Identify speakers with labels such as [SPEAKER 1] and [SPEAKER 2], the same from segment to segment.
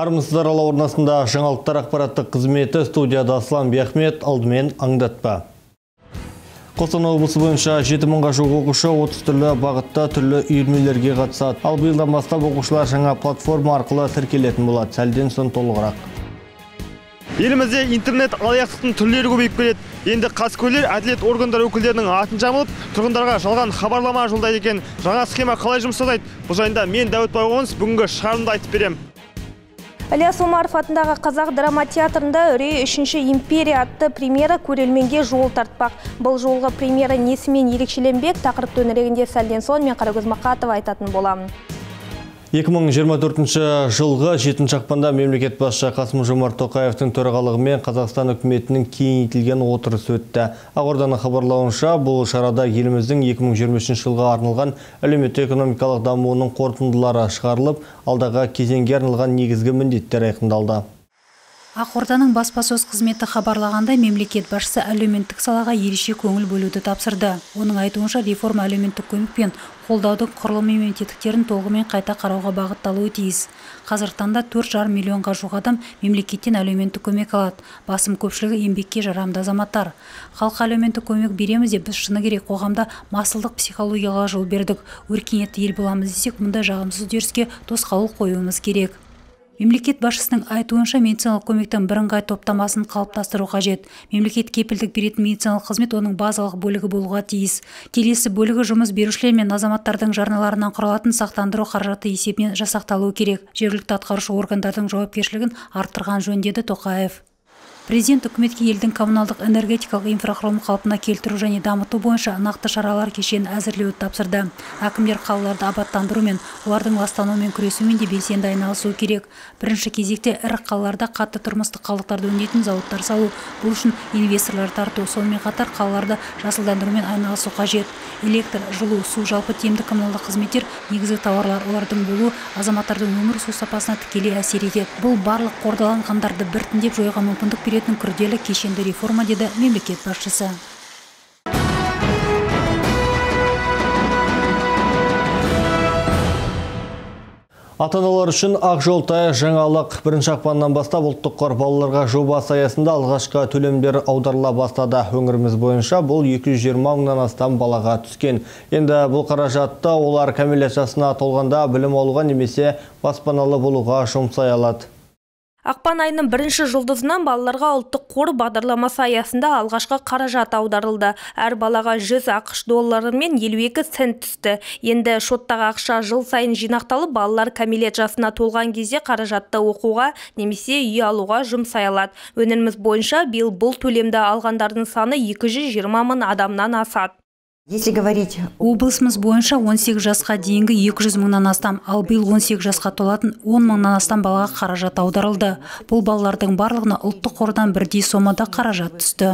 [SPEAKER 1] Армысыздар орнасында жаңалықтар ақпараттық қызметі студияда Аслан Бияхмет, алдымен аңдатпа. Қостанай облысы бойынша 7000-ға жуық оқушы 30 түрлі бағытта түрлі үйірмелерге қатысады. Ал биылдан бастап оқушылар жаңа платформа арқылы тіркелетін болады. Сәлден соң толығырақ.
[SPEAKER 2] Елімізде интернет алаяқтықтың түрлері көбейіп келеді. Енді қаскөйлер әділет органдар өкілдерінің атын жамылып, тұрғындарға жалған хабарлама жолдайды екен. Жаңа схема қалай жұмыс жасайды? Бұл жайында мен Дәуіт Байғоныс бүгінгі шығарылымда айтып берем.
[SPEAKER 3] Ілияс Омаров атындағы қазақ драма театрында Үрей 3-ші империя атты премьера көрерменге жол тартпақ. Бұл жолғы премьера несімен ерекшеленбек, тақырып төңірегінде сәлден соң мен Қарагөз Мақатова айтатын боламын.
[SPEAKER 1] 2024 жылғы 7 ақпанда мемлекет басшысы Қасым-Жомарт Тоқаевтың төрағалығымен Қазақстан үкіметінің кеңейтілген отырысы өтті. Ақорданың хабарлауынша, бұл шарада еліміздің 2023 жылға арналған әлеуметтік-экономикалық дамуының қорытындылары шығарылып, алдағы кезеңге арналған негізгі міндеттер айқындалды.
[SPEAKER 4] Ақорданың баспасөз қызметі хабарлағандай, мемлекет басшысы әлеуметтік салаға ерекше көңіл бөлуді тапсырды. Оның айтуынша, реформа әлеуметтік көмек пен қолдаудың құрылымы мен тетіктерін толығымен қайта қарауға бағытталуы тиіс. Қазіргі таңда 4,5 миллионға жуық адам мемлекеттен әлеуметтік көмек алады. Басым көпшілігі еңбекке жарамды азаматтар. Халыққа әлеуметтік көмек береміз деп біз шыны керек қоғамда масылдық психологияға жол бердік. Өркениетті ел боламыз десек, мұндай жағымсыз үдеріске тосқауыл қоюымыз керек. Мемлекет басшысының айтуынша, медициналық көмектің бірыңғай топтамасын қалыптастыру қажет. Мемлекет кепілдік беретін медициналық қызмет оның базалық бөлігі болуға тиіс. Келесі бөлігі жұмыс берушілер мен азаматтардың жарналарынан құралатын сақтандыру қаражаты есебінен жасақталуы керек. Жергілікті атқарушы органдардың жауапкершілігін арттырған жөн деді Тоқаев. Президент үкіметке елдің коммуналдық энергетикалық инфрақұрылымын қалпына келтіру және дамыту бойынша нақты шаралар кешенін әзірлеуді тапсырды. Әкімдер қалаларды абаттандыру мен олардың ластануымен күресумен де белсенді айналысуы керек. Бірінші кезекте ірі қалаларда қатты тұрмыстық қалдықтарды өңдейтін зауыттар салу. Бұл үшін инвесторлар тарту, сонымен қатар қалаларды жасылдандырумен айналысу қажет. Электр, жылу, су, жалпы тиімді коммуналдық қызметтер негізгі тауарлар, олардың болуы азаматтардың өмір сүру сапасына тікелей әсер етеді. Бұл барлық қордаланғандарды біртіндеп жоюға мүмкіндік беретін күрделі кешенді реформа, деді мемлекет басшысы.
[SPEAKER 1] Ата-аналар үшін ақ жол тай жаңалық. 1 ақпаннан бастап ұлттық қор балаларға жобасы аясында алғашқы төлемдер аударыла бастады. Өңіріміз бойынша бұл 220 мыңнан астам балаға түскен. Енді бұл қаражатты олар кәмелет жасына толғанда білім алуға немесе баспаналы болуға жұмсай алады.
[SPEAKER 3] Ақпан айының 1-ші жұлдызынан балаларға ұлттық қор бағдарламасы аясында алғашқы қаражат аударылды. Әр балаға 100 ақш доллары мен 52 цент түсті. Енді шоттағы ақша жыл сайын жинақталып, балалар кәмелет жасына толған кезде қаражатты оқуға немесе үй алуға жұмсай алады. Өңіріміз бойынша биыл бұл төлемді алғандардың саны 220 мың адамнан асады.
[SPEAKER 4] Облысымыз бойынша 18 жасқа дейінгі 200 мыңнан астам, ал биыл 18 жасқа толатын 10 мыңнан астам балаға қаражат аударылды. Бұл балалардың барлығына ұлттық қордан бірдей сомада қаражат түсті.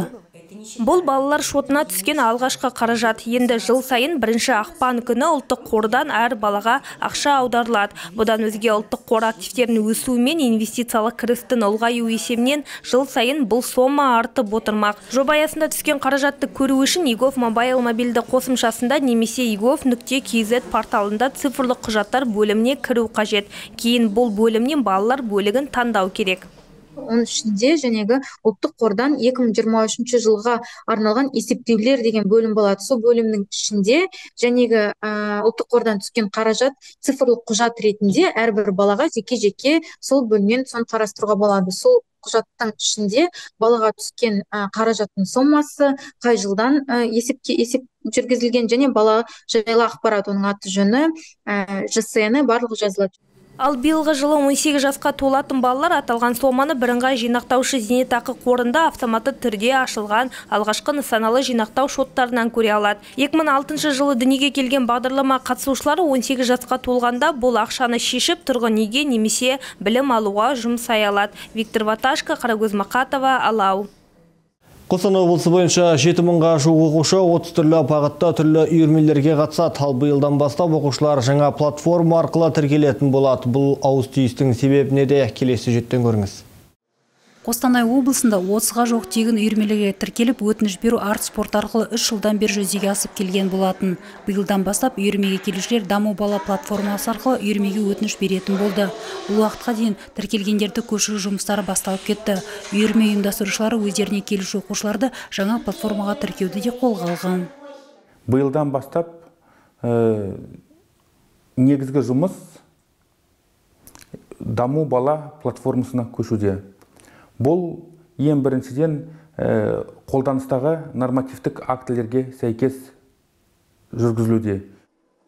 [SPEAKER 3] Бұл балалар шотына түскен алғашқы қаражат. Енді жыл сайын 1 ақпан күні ұлттық қордан әр балаға ақша аударылады. Бұдан өзге ұлттық қор активтерінің өсуімен инвестициялық кірістің ұлғаю есебінен жыл сайын бұл сома артып отырмақ. Жоба аясында түскен қаражатты көру үшін eGov Mobile мобильді қосымшасында немесе egov.kz порталында цифрлық құжаттар бөліміне кіру қажет. Кейін бұл бөлімнен балалар бөлігін таңдау керек.
[SPEAKER 5] Оның ішінде жәнегі ұлттық қордан 2023 жылға арналған есептеулер деген бөлім болады. Сол бөлімнің ішінде жәнегі ұлттық қордан түскен қаражат цифрлық құжат ретінде әрбір балаға жеке-жеке сол бөлімнен сон қарастыруға болады. Сол құжаттың ішінде балаға түскен қаражаттың сомасы, қай жылдан есеп жүргізілген және бала жайлы ақпарат, оның аты жөні, ЖСН барлығы жазылады.
[SPEAKER 3] Ал биылғы жылы 18 жасқа толатын балалар аталған соманы бірыңғай жинақтаушы зейнетақы қорында автоматты түрде ашылған алғашқы нысаналы жинақтау шоттарынан көре алады. 2006 жылы дүниеге келген бағдарлама қатысушылары 18 жасқа толғанда бұл ақшаны шешіп тұрғын үйге немесе білім алуға жұмсай алады. Виктор Ваташко, Қарагөз Мақатова, Алау.
[SPEAKER 1] Қостанай облысы бойынша 7000-ға жуық оқушы 30 түрлі бағытта түрлі үйірмелерге қатысады. Ал биылдан бастап оқушылар жаңа платформа арқылы тіркелетін болады. Бұл ауыс-түйістің себебіне де келесі сюжеттен көріңіз.
[SPEAKER 4] Қостанай облысында 30-ға жоқ тегін үйірмелерге тіркеліп, өтініш беру арт спорт арқылы 3 жылдан бері жүзеге асып келген болатын. Биылдан бастап үйірмеге келушілер Даму бала платформасы арқылы үйірмеге өтініш беретін болды. Бұл уақытқа дейін тіркелгендерді көшіру жұмыстары басталып кетті. Үйірме ұйымдастырушылары өздеріне келуші оқушыларды жаңа платформаға тіркеуді де қолға алған.
[SPEAKER 6] Биылдан бастап негізгі жұмыс Даму бала платформасына көшуде. Бұл ең біріншіден қолданыстағы нормативтік актілерге сәйкес жүргізілуде.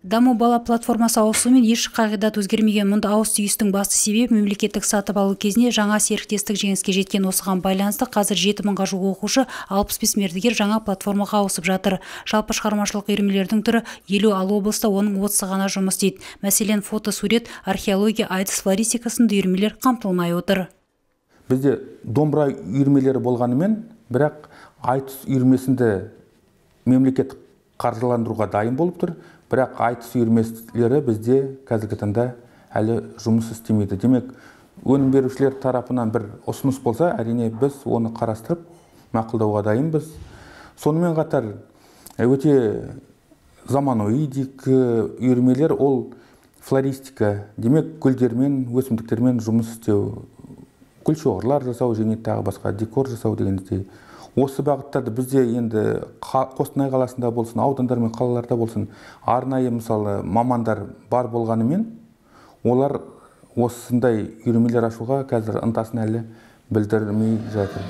[SPEAKER 4] Даму бала платформасы ауысуымен еш қағидат өзгермеген. Мұнда ауыс түйістің басты себебі мемлекеттік сатып алу кезінде жаңа серіктестік жеңіске жеткен. Осыған байланысты қазір 7000-ға жуық оқушы, 65 мердігер жаңа платформаға ауысып жатыр. Жалпы шығармашылық үйірмелердің түрі 50, ал облыста оның 30 ғана жұмыс істейді. Мәселен, фото, сурет, археология, айтыс, флористика сынды үйірмелер қамтылмай отыр.
[SPEAKER 6] Бізде домбыра үйірмелері болғанымен, бірақ айтыс үйірмесінде мемлекет қаржыландыруға дайын болып тұр. Бірақ айтыс үйірмелері бізде қазіргі таңда әлі жұмыс істемейді. Демек, өнім берушілер тарапынан бір ұсыныс болса, әрине біз оны қарастырып, мақұлдауға дайынбыз. Сонымен қатар өте заманауи үйірмелер ол флористика, демек гүлдермен, өсімдіктермен жұмыс істеу, гүлшоғырлар жасау және тағы басқа декор жасау дегендей. Осы бағыттарды бізде енді Қостанай қаласында болсын, аудандар мен қалаларда болсын, арнайы мысалы мамандар бар болғанымен, олар осындай үйірмелер ашуға қазір ынтасын әлі білдірмей жатыр.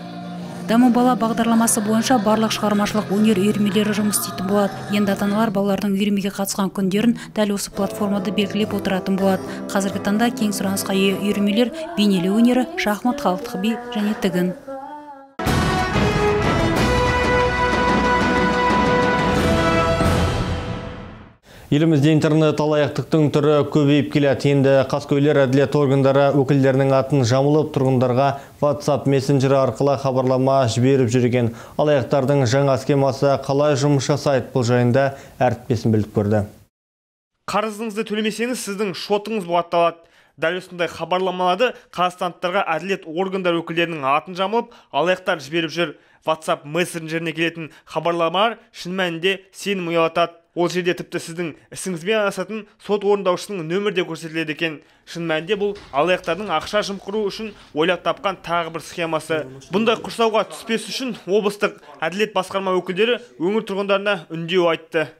[SPEAKER 4] Даму бала бағдарламасы бойынша барлық шығармашылық өнер үйірмелері жұмыс істейтін болады. Енді ата-аналар балалардың үйірмеге қатысқан күндерін дәл осы платформада белгілеп отыратын болады. Қазіргі таңда кең сұранысқа ие үйірмелер бейнелеу өнері, шахмат, халықтық би және тігін.
[SPEAKER 1] Елімізде интернет алаяқтықтың түрі көбейіп келеді. Енді қаскөйлер әділет органдары өкілдерінің атын жамылып, тұрғындарға WhatsApp мессенджері арқылы хабарлама жіберіп жүрген. Алаяқтардың жаңа схемасы қалай жұмыс жасайды, бұл жайында әріптесім біліп көрді.
[SPEAKER 2] Қарызыңызды төлемесеңіз, сіздің шотыңыз бұғатталады. Дәл осындай хабарламаларды қазақстандықтарға әділет органдар өкілдерінің атын жамылып, алаяқтар жіберіп жүр. WhatsApp мессенджеріне келетін хабарламалар шын мәнінде сенім ұялатады. Ол жерде тіпті сіздің ісіңізбен айналысатын сот орындаушысының нөмірі де көрсетіледі екен. Шын мәнінде бұл алаяқтардың ақша жымқыру үшін ойлап тапқан тағы бір схемасы. Бұндай құрсауға түспес үшін облыстық әділет басқарма өкілдері өңір тұрғындарына үндеу айтты.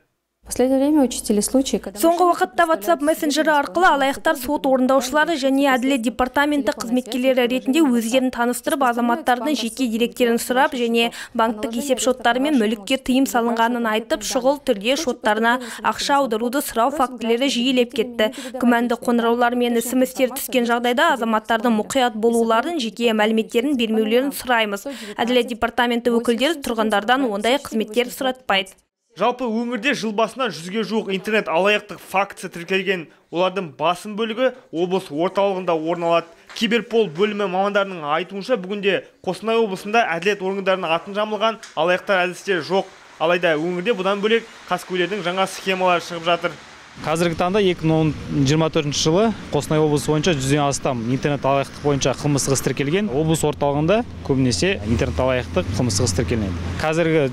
[SPEAKER 3] Соңғы уақытта WhatsApp мессенджері арқылы алаяқтар сот орындаушылары және әділет департаменті қызметкерлері ретінде өздерін таныстырып, азаматтардың жеке деректерін сұрап және банктік есепшоттары мен мүлікке тыйым салынғанын айтып, шұғыл түрде шоттарына ақша аударуды сұрау фактілері жиілеп кетті. Күмәнді қоңыраулар мен SMS-тер түскен жағдайда азаматтардың мұқият болуларын, жеке мәліметтерін бермеулерін сұраймыз. Әділет департаменті өкілдері тұрғындардан ондай қызметтер сұратпайды.
[SPEAKER 2] Жалпы өңірде жыл басынан 100-ге жуық интернет алаяқтық фактісі тіркелген. Олардың басым бөлігі облыс орталығында орын алады. Киберпол бөлімі мамандарының айтуынша, бүгінде Қостанай облысында әділет органдарының атын жамылған алаяқтар әдістері жоқ. Алайда өңірде бұдан бөлек қаскөйлердің жаңа схемалары шығып жатыр.
[SPEAKER 7] Қазіргі таңда 2024 жылы Қостанай облысы бойынша 100-ден астам интернет алаяқтық бойынша қылмыстық іс тіркелген. Облыс орталығында көбінесе интернет алаяқтық қылмыстық іс тіркелген. Қазіргі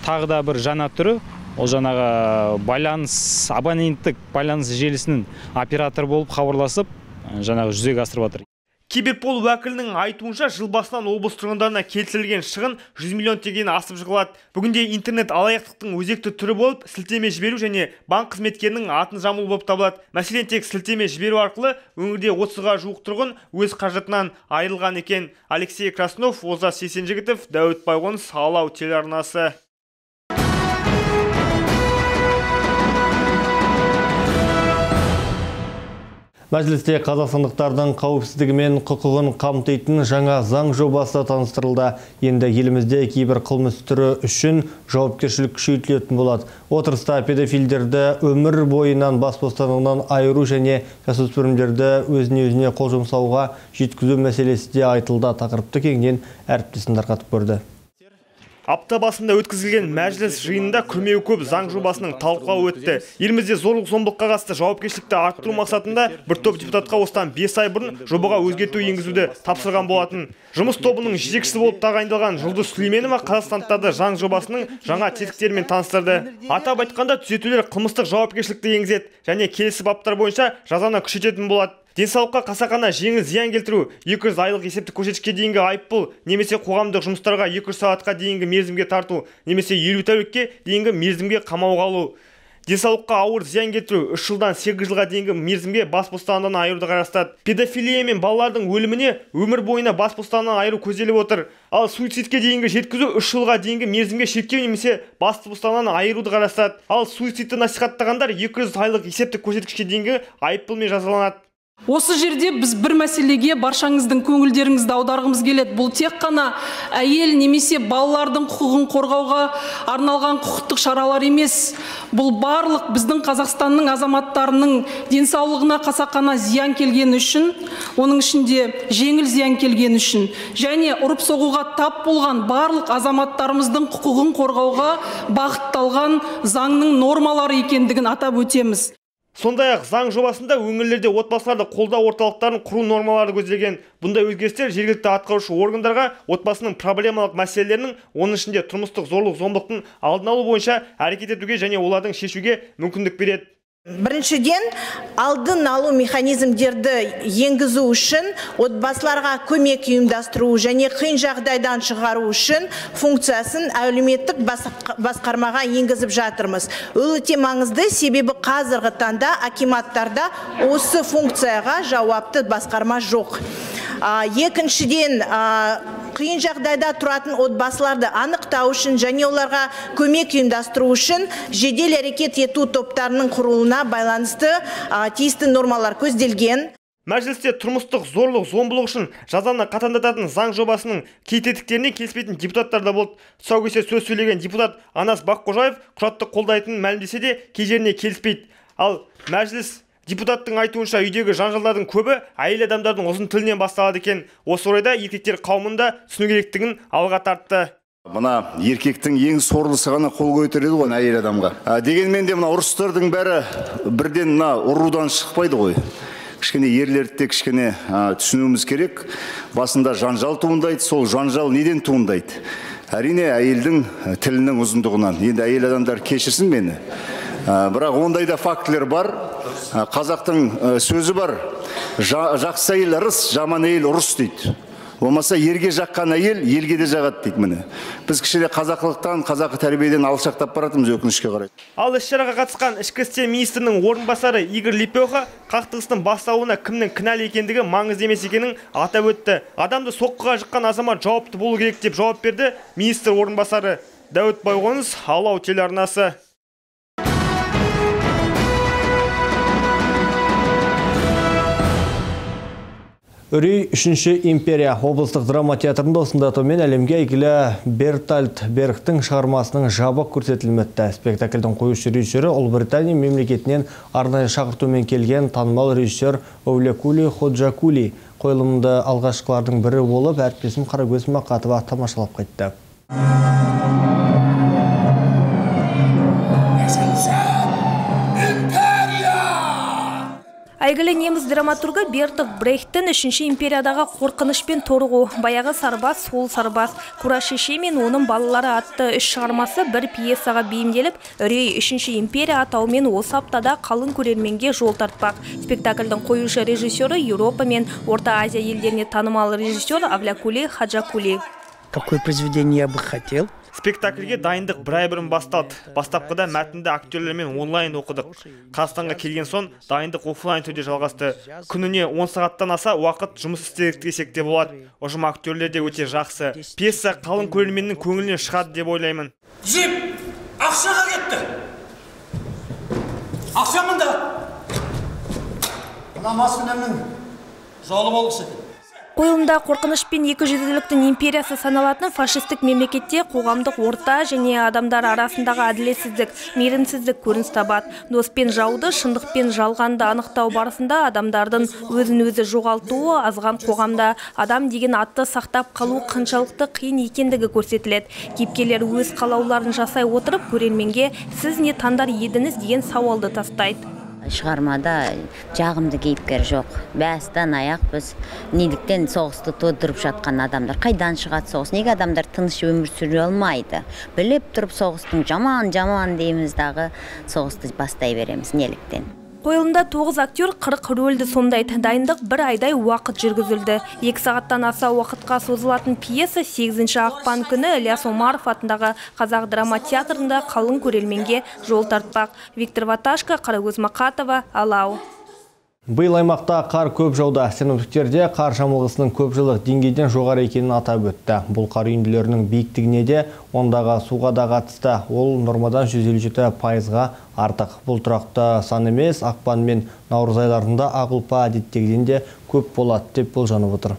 [SPEAKER 7] тағы да бір жаңа түрі, ол жаңағы абоненттік байланыс желісінің оператор болып хабарласып, жаңағы жүзеге асырып жатыр.
[SPEAKER 2] Киберпол уәкілінің айтуынша, жыл басынан облыс тұрғындарына келтірілген шығын 100 миллион теңгені асып жығылады. Бүгінде интернет алаяқтықтың өзекті түрі болып, сілтеме жіберу және банк қызметкерінің атын жамылу болып табылады. Мәселен, тек сілтеме жіберу арқылы өңірде 30-ға жуық тұрғын өз қаржытынан айырылған екен. Алексей Краснов, Олжас Есенжігітов, Дәуіт Байғоныс, Алау телеарнасы.
[SPEAKER 1] Мәжілісте қазақстандықтардың қауіпсіздігі мен құқығын қамтитын жаңа заң жобасы таныстырылды. Енді елімізде кейбір қылмыс түрі үшін жауапкершілік күшейтілетін болады. Отырыста педофилдерді өмір бойынан бас бостандығынан айыру және жасөспірімдерді өзіне қол жұмсауға жеткізу мәселесі де айтылды. Тақырыпты кеңінен әріптесім тарқатып көрді.
[SPEAKER 2] Апта басында өткізілген мәжіліс жиынында күрмеуі көп заң жобасының талқылауы өтті. Елімізде зорлық-зомбылыққа қатысты жауапкершілікті арттыру мақсатында бір топ депутатқа осыдан 5 ай бұрын жобаға өзгерту енгізуді тапсырған болатын. Жұмыс тобының жетекшісі болып тағайындалған Жұлдыз Сүлейменова қазақстандықтарды заң жобасының жаңа тетіктерімен таныстырды. Атап айтқанда түзетулер қылмыстық жауапкершілікті енгізеді және келесі баптар бойынша жазаны күшейтетін болады. Денсаулыққа қасақана жеңіл зиян келтіру, 200 айлық есептік көрсеткішке дейінгі айыппұл, немесе қоғамдық жұмыстарға 200 сағатқа дейінгі мерзімге тарту, немесе 50 тәулікке дейінгі мерзімге қамауға алу. Денсаулыққа ауыр зиян келтіру 3 жылдан 8 жылға дейінгі мерзімге бас бостандығынан айыруды қарастырады. Педофилия мен балалардың өліміне өмір бойына бас бостандығынан айыру көзделіп отыр. Ал суицидке дейінгі жеткізу 3 жылға дейінгі мерзімге шектеу немесе бас бостандығынан айыруды қарастырады. Ал суицидті насихаттағандар 200 айлық есептік көрсеткішке дейінгі айыппұлмен жазаланады.
[SPEAKER 8] Осы жерде біз бір мәселеге баршаңыздың көңілдеріңізді аударғымыз келеді. Бұл тек қана әйел немесе балалардың құқығын қорғауға арналған құқықтық шаралар емес. Бұл барлық біздің Қазақстанның азаматтарының денсаулығына қасақана зиян келген үшін, оның ішінде жеңіл зиян келген үшін, және ұрып соғуға тап болған барлық азаматтарымыздың құқығын қорғауға бағытталған заңның нормалары екендігін атап өтеміз.
[SPEAKER 2] Сондай-ақ заң жобасында өңірлерде отбасыларды қолдау орталықтарын құру нормалары көзделген. Бұндай өзгерістер жергілікті атқарушы органдарға отбасының проблемалық мәселелерінің, оның ішінде тұрмыстық зорлық-зомбылықтың алдын алу бойынша әрекет етуге және олардың шешуге мүмкіндік береді.
[SPEAKER 9] Біріншіден, алдын алу механизмдерді енгізу үшін отбасыларға көмек ұйымдастыру және қиын жағдайдан шығару үшін функциясын әлеуметтік басқармаға енгізіп жатырмыз. Өте маңызды, себебі қазіргі таңда акиматтарда осы функцияға жауапты басқарма жоқ. Екіншіден, қиын жағдайда тұратын отбасыларды анықтау үшін және оларға көмек ұйымдастыру үшін жедел әрекет ету топтарының құрылуына байланысты тиісті нормалар көзделген.
[SPEAKER 2] Мәжілісте тұрмыстық зорлық-зомбылық үшін жазаны қатаңдататын заң жобасының кей тетіктеріне келіспейтін депутаттар да болды. Тұсаукесерде сөз сөйлеген депутат Анас Баққожаев құжатты қолдайтынын мәлімдесе де кей жеріне келіспейді. Ал мәжіліс депутаттың айтуынша үйдегі жанжалдардың көбі әйел адамдардың ұзын тілінен басталады екен. Осы орайда еркектер қауымында түсіну керектігін алға тартты.
[SPEAKER 10] Мына еркектің ең сорлысы ғана қол көтереді ғой әйел адамға. Дегенмен де мына ұрыстардың бәрі бірден мына ұрудан шықпайды ғой. Кішкене ерлерді кішкене түсінуіміз керек. Басында жанжал туындайды, сол жанжал неден туындайды? Әрине әйелдің тілінің ұзындығынан. Енді әйел адамдар кешірсін мені. Бірақ ондай да фактілер бар. Қазақтың сөзі бар. Жақсы әйел ырыс, жаман әйел ұрыс дейді. Болмаса ерге жаққан әйел елге де жағады дейді міне. Біз кішкене қазақылықтан, қазақы тәрбиеден алшақтап баратырмыз өкінішке қарай.
[SPEAKER 2] Ал іс-шараға қатысқан ішкі істер министрінің орынбасары Игорь Лепеха қақтығыстың басталуына кімнің кінәлі екендігі маңызды емес екенін атап өтті. Адамды соққыға жыққан азамат жауапты болу керек деп жауап берді министр орынбасары. Дәуіт Байғоныс, Алау телеарнасы.
[SPEAKER 1] Үрей 3-ші империя облыстық драма театрында осында томен әлемге әйгілі Бертольд Бергтің шығармасының жабық көрсетілметті. Спектакльдің қоюшы режиссері Ұлыбритания мемлекетінен арнайы шақыртумен келген танымал режиссер Овлекули Ходжакули қойылымды алғашқылардың бірі болып, әріптесім Қарагөз Мақатова тамашалап қайтты.
[SPEAKER 3] Әйгілі неміс драматургы Бертольд Брехттің 3-ші империядағы қорқынышпен торығу, баяғы сарбаз, сол сарбаз, Кура шеше мен оның балалары атты 3 шығармасы бір пьесаға бейімделіп, Үрей 3-ші империя атауымен осы аптада қалың көрерменге жол тартпақ. Спектакльдің қоюшы режиссері Еуропа мен Орта Азия елдеріне танымал режиссер Овлекули Ходжакули.
[SPEAKER 11] Какое произведение я бы хотел?
[SPEAKER 2] Спектакльге дайындық бір ай бұрын басталды. Бастапқыда мәтінді актерлермен онлайн оқыдық. Қазақстанға келген соң дайындық офлайн түрде жалғасты. Күніне 10 сағаттан аса уақыт жұмыс істедік десек те болады. Ұжым актерлер де өте жақсы. Пьеса қалың көрерменнің көңілінен шығады деп ойлаймын.
[SPEAKER 12] Жеп, ақшаға кетті. Ақша мында. Мына маскүнемнің жолы болғысы.
[SPEAKER 3] Қойылымда қорқыныш пен екіжүзділіктің империясы саналатын фашистік мемлекетте қоғамдық орта және адамдар арасындағы әділетсіздік, мейірімсіздік көрініс табады. Дос пен жауды, шындық пен жалғанды анықтау барысында адамдардың өзін-өзі жоғалтуы азған қоғамда адам деген атты сақтап қалу қаншалықты қиын екендігі көрсетіледі. Кейіпкерлер өз қалауларын жасай отырып көрерменге "Сіз не таңдар едіңіз?" деген сауалды тастайды.
[SPEAKER 13] Шығармада жағымды кейіпкер жоқ. Бәстен аяқ біз неліктен соғысты тудырып жатқан адамдар. Қайдан шығады соғыс? Неге адамдар тыныш өмір сүре алмайды? Біліп тұрып соғыстың жаман дейміз дағы соғысты бастай береміз. Неліктен?
[SPEAKER 3] Қойылымда 9 актер 40 рөлді сомдайды. Дайындық 1 айдай уақыт жүргізілді. 2 сағаттан аса уақытқа созылатын пьеса 8 ақпан күні Ілияс Омаров атындағы Қазақ драма театрында қалың көрерменге жол тартпақ. Виктор Ваташко, Қарагөз Мақатова, Алау.
[SPEAKER 1] Биыл аймақта қар көп жауда. Синоптиктерде қар жамылғысының көпжылдық деңгейден жоғары екенін атап өтті. Бұл қар үйінділерінің биіктігіне де ондағы суға да қатысты. Ол нормадан 157%-ға артық. Бұл тұрақты сан емес, ақпан мен наурыз айларында ақ ұлпа әдеттегіден де көп болады деп болжанып отыр.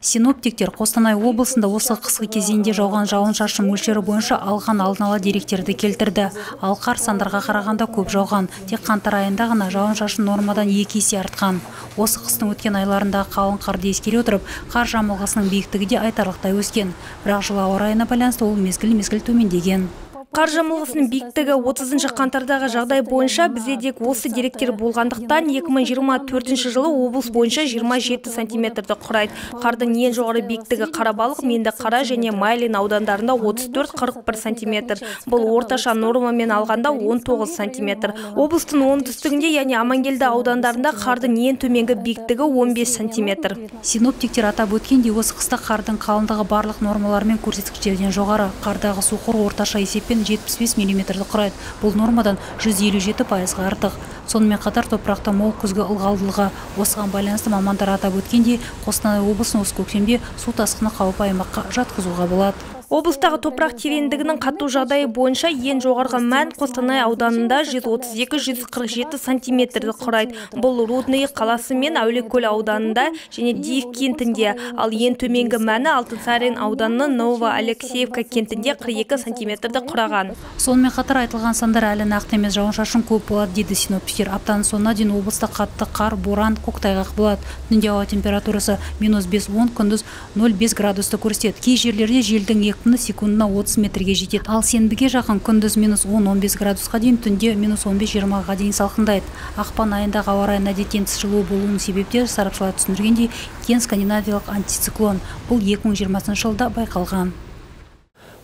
[SPEAKER 4] Синоптиктер Қостанай облысында осы қысқы кезеңде жауған жауын-шашын мөлшері бойынша алған алдын ала деректерді келтірді. Ал қар сандарға қарағанда көп жауған. Тек қаңтар айында ғана жауын-шашын нормадан 2 есе артқан. Осы қыстың өткен айларында қалың қарды ескере отырып, қар жамылғысының биіктігі де айтарлықтай өскен. Бірақ жылы ауа райына байланысты ол мезгіл төмендеген.
[SPEAKER 3] Қар жамылғысының биіктігі 30 қаңтардағы жағдай бойынша бізде дек осы деректер болғандықтан 2024 жылы облыс бойынша 27 сантиметрді құрайды. Қардың ең жоғары биіктігі Қарабалық, Меңдіқара және Майлин аудандарында 34-41 сантиметр. Бұл орташа нормамен алғанда 19 сантиметр. Облыстың оңтүстігінде, яғни Амангелді аудандарында қардың ең төменгі биіктігі 15 сантиметр.
[SPEAKER 4] Синоптиктер атап өткендей, осы қыста қардың қалыңдығы барлық нормалармен көрсеткіштерден жоғары. Қардағы су қоры орташа есеппен 75 мм-ді құрайды. Бұл нормадан 157%-ға артық. Сонымен қатар топырақта мол күзгі ылғалдылығы. Осыған байланысты мамандар атап өткендей, Қостанай облысының осы көктемде су тасқыны қаупі аймаққа жатқызуға болады.
[SPEAKER 3] Облыстағы топырақ тереңдігінің қату жағдайы бойынша ең жоғарғы мән Қостанай ауданында 132-147 сантиметрді құрайды. Бұл Рудный қаласы мен Әулиекөл ауданында және Диев кентінде, ал ең төменгі мәні Алтынсарин ауданының Ново-Алексеевка кентінде 42 сантиметрді құраған.
[SPEAKER 4] Сонымен қатар айтылған сандар әлі нақты емес, жауын-шашын көп болады дейді синоптиктер. Аптаның соңына дейін облыста қатты қар, боран, көктайғақ болады. Түнде ауа температурасы -5-10, күндіз 0,5 градусты көрсетеді. Кей жерлерде желдің екпіні секундына 30 метрге жетеді. Ал сенбіге жақын күндіз -10-15 градусқа дейін, түнде -15-20-ға дейін салқындайды. Ақпан айындағы ауа райына әдеттен тыс жылу болуының себептері сарапшылар түсіндіргендей, кен скандинавиялық антициклон. Бұл 2020 жылда байқалған.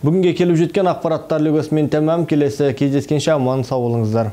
[SPEAKER 1] Бүгінге келіп жеткен ақпараттар үлгісімен тәмам. Келесі кездескенше аман сау болыңыздар.